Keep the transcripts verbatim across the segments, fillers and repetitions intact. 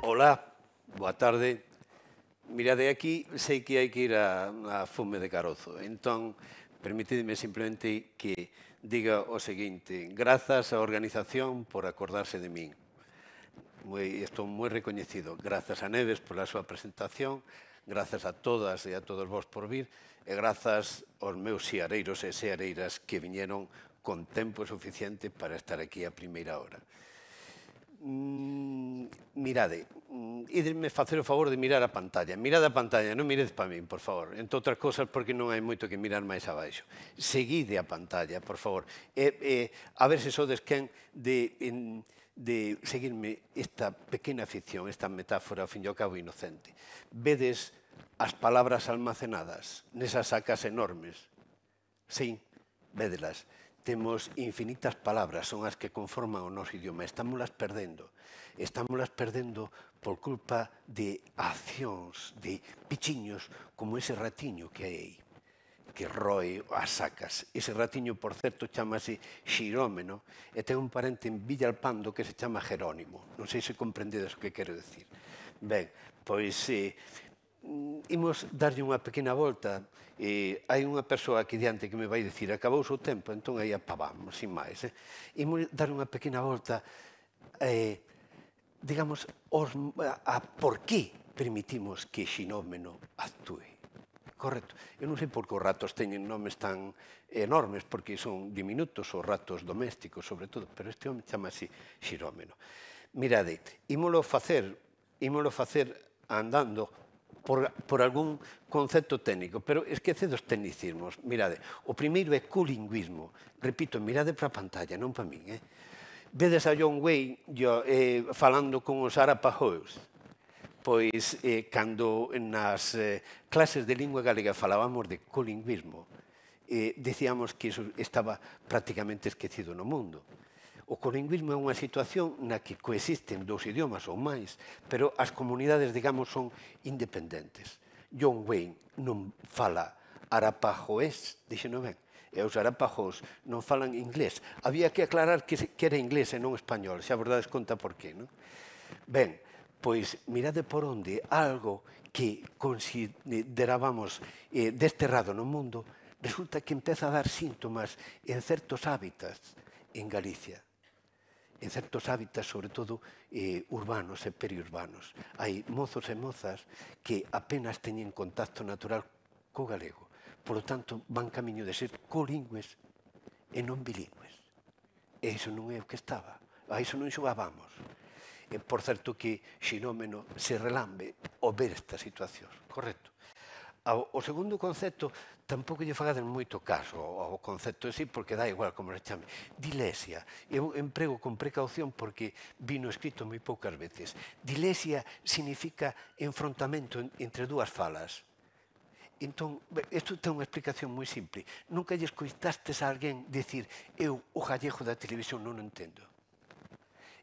Ola, boa tarde. Mirade, aquí sei que hai que ir a, a fume de carozo. Entón, permitidme simplemente que diga o seguinte. Grazas á organización por acordarse de min. Moi, estou moi recoñecido. Grazas a Neves pola súa presentación, grazas a todas e a todos vos por vir, e grazas aos meus seareiros e seareiras que viñeron con tempo suficiente para estar aquí a primeira hora. Mm, mirade, mm, ídenme facer o favor de mirar a pantalla. Mirade a pantalla, non miredes para min, por favor. Entre outras cosas, porque non hai moito que mirar máis abaixo. Seguide a pantalla, por favor. E, e, a ver se sodes quen de, en, de seguirme esta pequena ficción, esta metáfora, ao fin e ao cabo, inocente. Vedes as palabras almacenadas nesas sacas enormes? Sí, védelas. Temos infinitas palabras, son as que conforman o noso idioma. Estámolas perdendo. Estámolas perdendo por culpa de accións, de pichiños, como ese ratiño que hai aí, que roe as sacas. Ese ratiño, por certo, chamase Xirómeno, e ten un parente en Villalpando que se chama Jerónimo. Non sei se comprendedes o que quero decir. Ben, pois... Eh, imos darlle unha pequena volta. Eh, hai unha persoa aquí diante que me vai dicir acabou o seu tempo, entón aí apavamos, sin máis. Eh? Imos dar unha pequena volta, eh, digamos, os, a, a por que permitimos que Xinómeno actúe. Correcto. Eu non sei por que os ratos teñen nomes tan enormes, porque son diminutos, os ratos domésticos, sobre todo, pero este home chama así Xirómeno. Mirade, ímolo facer, ímolo facer andando Por, por algún concepto técnico, pero esquecede os tecnicismos. Mirade, o primeiro é colingüismo. Repito, mirade para a pantalla, non para min. Eh? Vedes a John Wayne yo, eh, falando con os Arapahoes. Pois, eh, cando nas eh, clases de lingua galega falábamos de colingüismo, eh, dicíamos que iso estaba prácticamente esquecido no mundo. O colingüismo é unha situación na que coexisten dous idiomas ou máis, pero as comunidades, digamos, son independentes. John Wayne non fala arapahoés, dixeno ben, e os arapajós non falan inglés. Había que aclarar que era inglés e non español, xa vos dades conta por qué, non? Ben, pois mirade por onde algo que considerábamos eh, desterrado no mundo resulta que empeza a dar síntomas en certos hábitats en Galicia. En certos hábitats, sobre todo eh, urbanos e periurbanos. Hai mozos e mozas que apenas teñen contacto natural co galego. Por lo tanto, van camiño de ser colingües e non bilingües. E iso non é o que estaba. A iso non xogábamos. E, por certo, que Xinómeno se relambe ao ver esta situación. Correcto. O segundo concepto, tampouco lle fagades moito caso ao concepto de sí, porque dá igual como se chame. Dilesia. Eu emprego con precaución porque vino escrito moi poucas veces. Dilesia significa enfrontamento entre dúas falas. Entón, isto ten unha explicación moi simple. Nunca lle escoitastes a alguén dicir eu o gallego da televisión non o entendo.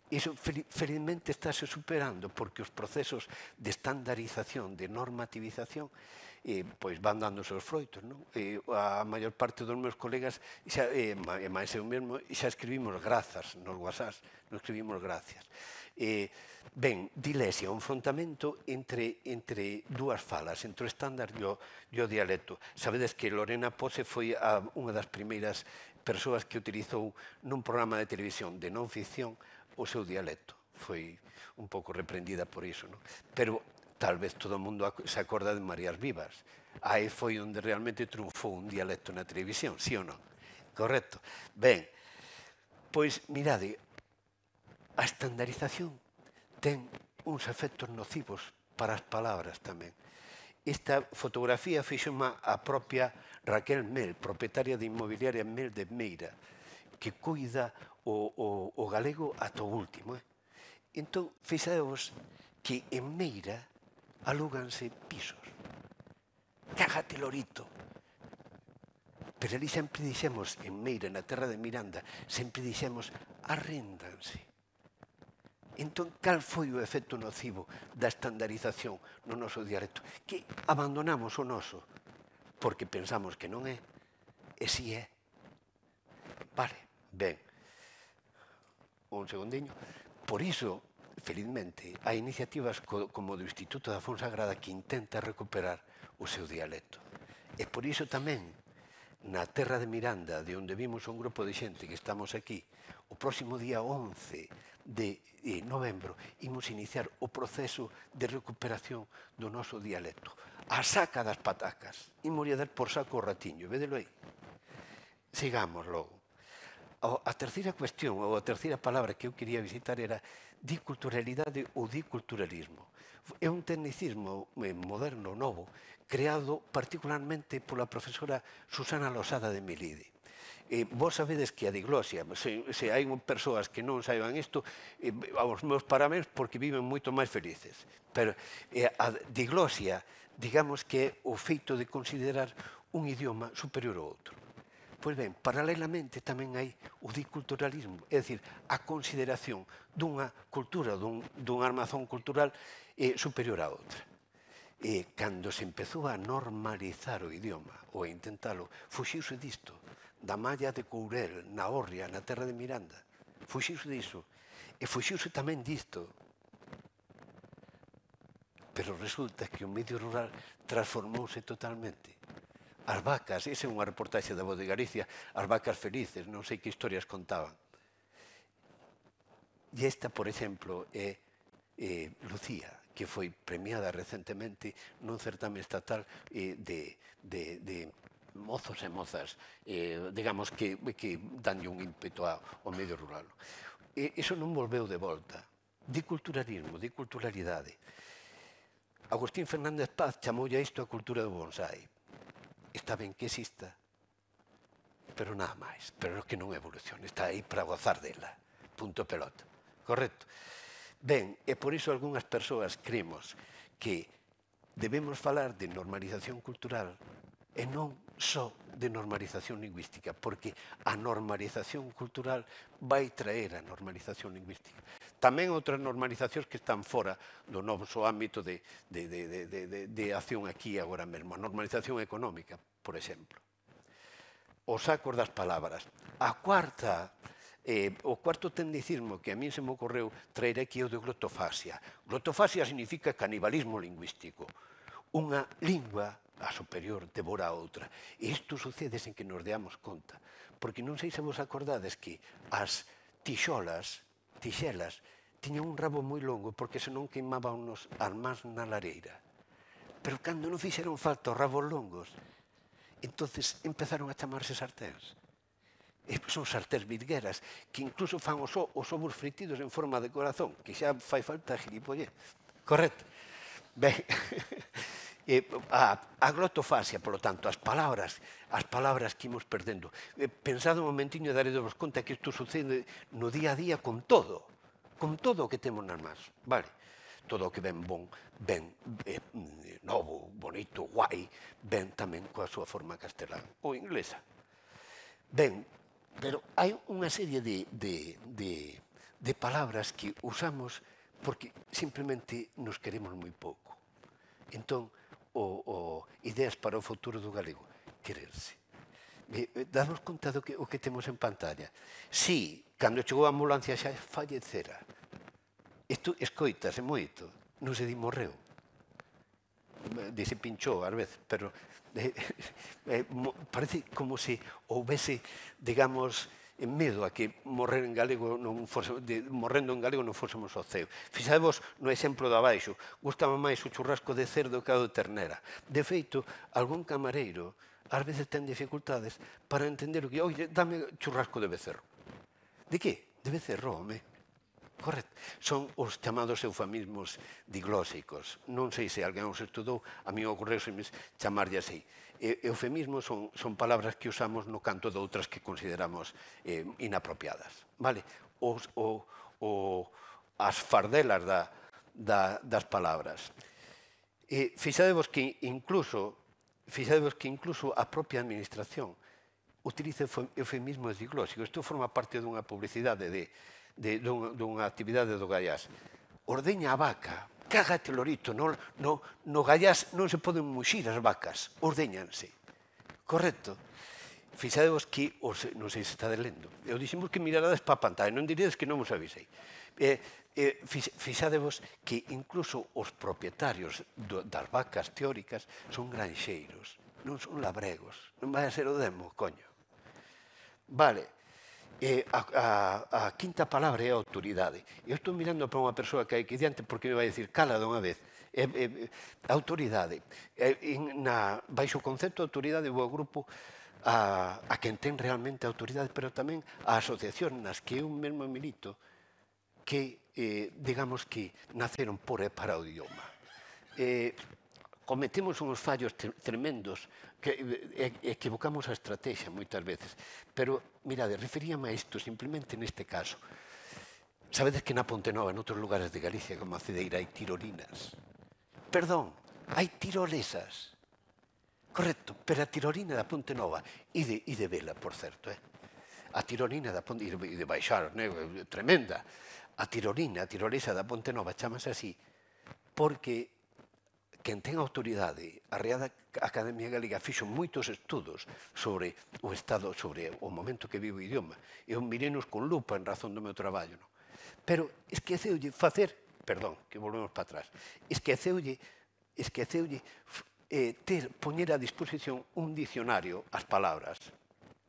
Iso felizmente estáse superando porque os procesos de estandarización, de normativización, eh, pois van dando os seus froitos, non? Eh, a maior parte dos meus colegas, xa, eh, e máis eu mesmo, xa escribimos grazas nos WhatsApps, non escribimos gracias. Eh, ben, dilesia, un enfrontamento entre, entre dúas falas, entre o estándar e o, e o dialecto. Sabedes que Lorena Pose foi a, unha das primeiras persoas que utilizou nun programa de televisión de non ficción o seu dialecto. Foi un pouco reprendida por iso, non? Pero tal vez todo o mundo se acorda de Marías Vivas. Aí foi onde realmente triunfou un dialecto na televisión, sí ou non? Correcto. Ben, pois mirade, a estandarización ten uns efectos nocivos para as palabras tamén. Esta fotografía fixoma a propia Raquel Mel, propietaria de inmobiliaria Mel de Meira, que cuida o, o, o galego ata o último. Eh? Entón, fixadevos que en Meira alúganse pisos. Cágate, lorito. Pero ali sempre dixemos, en Meira, na terra de Miranda, sempre dixemos, arréndanse. Entón, cal foi o efecto nocivo da estandarización no noso dialecto? Que abandonamos o noso, porque pensamos que non é, e si é. Vale, ben. Un segundiño. Por iso, felizmente, hai iniciativas como do Instituto da Fonsagrada que intenta recuperar o seu dialecto. E por iso tamén, na terra de Miranda, de onde vimos un grupo de xente que estamos aquí, o próximo día once de novembro, imos iniciar o proceso de recuperación do noso dialecto. A saca das patacas. Imos dar por saco o ratiño, vedelo aí. Sigamos logo. A terceira cuestión, ou a terceira palabra que eu quería visitar era diculturalidade ou diculturalismo. É un tecnicismo moderno, novo, creado particularmente pola profesora Susana Losada de Melide. Vos sabedes que a diglosia, se hai persoas que non saiban isto, aos meus parabéns porque viven moito máis felices. Pero a diglosia, digamos que é o feito de considerar un idioma superior ao outro. Pois ben, paralelamente tamén hai o diculturalismo, é dicir, a consideración dunha cultura, dun armazón cultural superior a outra. Cando se empezou a normalizar o idioma, ou a intentalo, fuxiuse disto, da malla de Courel, na Hórrea, na terra de Miranda. Fuxiuse diso. E fuxiuse tamén disto. Pero resulta que o medio rural transformouse totalmente. As vacas, esa é unha reportaxe da Voz de Galicia, as vacas felices, non sei que historias contaban. E esta, por exemplo, é Lucía, que foi premiada recentemente nun certame estatal de mozos e mozas, digamos, que danlle un ímpeto ao medio rural. Iso non volveu de volta. Diculturalismo, diculturalidade. Agustín Fernández Paz chamoulle a isto a cultura do bonsai. Está ben que exista, pero nada máis. Pero que non evolucione, está aí para gozar dela. Punto pelota. Correcto? Ben, e por iso algunhas persoas cremos que debemos falar de normalización cultural e non só de normalización lingüística, porque a normalización cultural vai traer a normalización lingüística. Tamén outras normalizacións que están fora do noso ámbito de acción aquí agora mesmo. A normalización económica, por exemplo. Os sacos das palabras. A cuarta, o cuarto tecnicismo que a mí se me ocorreu traer aquí é o de glotofasia. Glotofasia significa canibalismo lingüístico. Unha lingua a superior devora a outra. E isto sucede sen que nos deamos conta. Porque non sei se vos acordades que as tixolas, tixelas, tiñan un rabo moi longo porque senón queimaban as mans na lareira. Pero cando non fixeron falta os rabos longos, entonces empezaron a chamarse sarténs. Son sarténs virgueras que incluso fan os ovos fritidos en forma de corazón, que xa fai falta gilipollez. Correcto? Ben, a glotofasia, polo tanto, as palabras, as palabras que imos perdendo. Pensado un momentiño e daredevos conta que isto sucede no día a día con todo, con todo o que temos nas mans, vale? Todo o que ven bon, ven novo, bonito, guai, ven tamén coa súa forma castelán ou inglesa. Ben, pero hai unha serie de palabras que usamos porque simplemente nos queremos moi pouco. Entón, ideas para o futuro do galego, quererse. Damos conta do que temos en pantalla. Si, cando chegou a ambulancia xa fallecera. Isto escoitase moito, non se di morreu. Dice pinchou ás veces, pero parece como se houvese, digamos, medo a que morrer en galego morrendo en galego non fósemos ao ceo. Fixadevos no exemplo de abaixo, gustame máis o churrasco de cerdo que o de ternera. De feito, algún camareiro ás veces ten dificultades para entender o que, oye, dame churrasco de becerro. De que? De becerro, home. Correcto. Son os chamados eufemismos diglósicos. Non sei se alguén os estudou, a mí ocorreuseme chamarlle así. Eufemismos son palabras que usamos no canto de outras que consideramos inapropiadas. As fardelas das palabras. Fixadevos que incluso a propia administración utiliza eufemismos diglósicos. Isto forma parte dunha publicidade dunha actividade do Gaiás. Ordeña a vaca, cágate lorito, no Gaiás non se poden muxir as vacas, ordeñanse. Correcto? fixadevos que, os, non sei se está lendo, eu dixemos que mirarades para a pantalla, non diredes que non vos avisei. Eh, eh, fixadevos que incluso os propietarios do, das vacas teóricas son granxeiros, non son labregos, non vai a ser o demo, coño. Vale, eh, a, a, a quinta palabra é a autoridade. Eu estou mirando para unha persoa que hai aquí diante porque me vai dicir cala dunha vez. Eh, eh, autoridade. Eh, na, baixo o concepto de autoridade vou ao grupo a, a quen ten realmente autoridade, pero tamén a asociación nas que eu mesmo milito que, eh, digamos que, naceron por e para o idioma. Eh, cometemos uns fallos tremendos, que eh, equivocamos a estrategia moitas veces. Pero, mirade, referíame a isto simplemente neste caso. Sabedes que na Ponte Nova, en outros lugares de Galicia, como a Cedeira, hai tirolinas. Perdón, hai tirolesas. Correcto, pero a tirolina da Ponte Nova, e de, e de vela, por certo, eh? A tirolina da Ponte, e de baixar, né? Tremenda. A tirolina, a tirolesa da Ponte Nova, chamase así, porque quen ten autoridade, a Real Academia Galega fixo moitos estudos sobre o estado, sobre o momento que vive o idioma. Eu mirenos con lupa en razón do meu traballo, non? Pero esqueceulle facer, perdón, que volvemos para atrás, esqueceulle, esqueceulle eh, ter, poñer a disposición un dicionario, as palabras,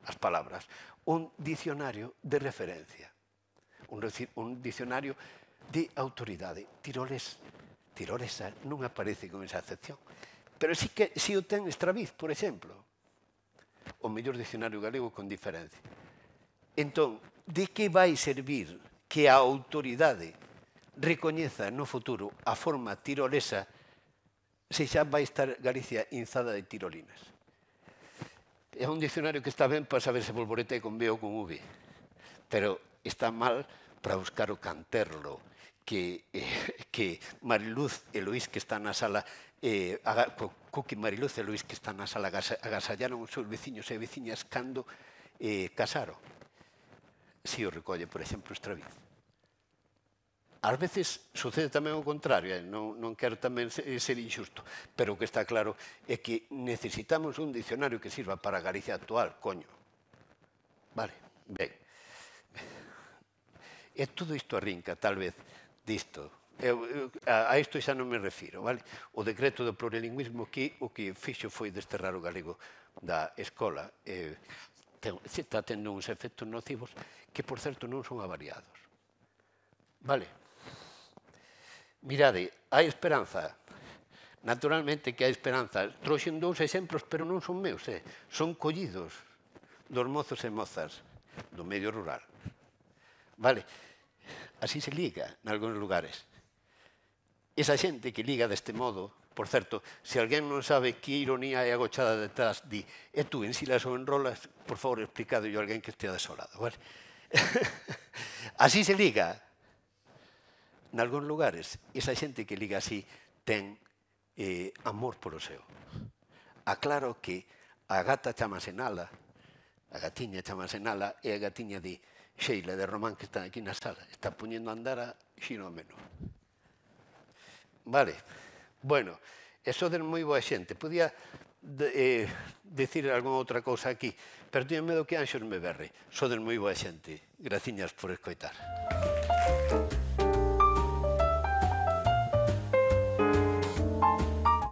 as palabras, un dicionario de referencia, un, un dicionario de autoridade. Tiroles, tirolesa non aparece con esa acepción, pero sí que si o ten Estraviz, por exemplo, o mellor dicionario galego con diferencia. Entón, de que vai servir que a autoridade recoñeza no futuro a forma tirolesa se xa vai estar Galicia inzada de tirolinas? É un dicionario que está ben para saber se bolborete con B ou con V, pero está mal para buscar o canterlo que, eh, que Mariluz e Luís que están na sala, eh, Cuqui, Mariluz e Luís que están na sala agasallaron os seus veciños e veciñas cando eh, casaron. Si o recolle, por exemplo, Estraviz. Ás veces sucede tamén o contrario, eh? non, non quero tamén ser injusto, pero o que está claro é que necesitamos un dicionario que sirva para a Galicia actual, coño. Vale, ben. E todo isto arrinca, tal vez, disto. Eu, eu, a, a isto xa non me refiro, vale? O decreto do plurilingüismo que o que fixo foi desterrar o galego da escola. Eh, ten, está tendo uns efectos nocivos que, por certo, non son avariados. Vale? Mirade, hai esperanza. Naturalmente que hai esperanza. Trouxen dous exemplos, pero non son meus, eh? Son collidos dos mozos e mozas do medio rural. Vale? Así se liga en algúns lugares. Esa xente que liga deste modo, por certo, se alguén non sabe que ironía é agochada detrás, di, e tú ensilas ou enrolas, por favor, explicado yo a alguén que estea desolado, vale? Así se liga. En algúns lugares, esa xente que liga así ten eh, amor polo seu. Aclaro que a gata chamase Nala, a gatiña chamase Nala, e a gatiña di Sheila de Román que está aquí na sala. Está poñendo a andar a Xiromeno. Vale. Bueno, e soden moi boa xente. Podía de, eh, decir algunha outra cousa aquí, pero teño medo que Anxos me berre. Soden moi boa xente. Graciñas por escoitar.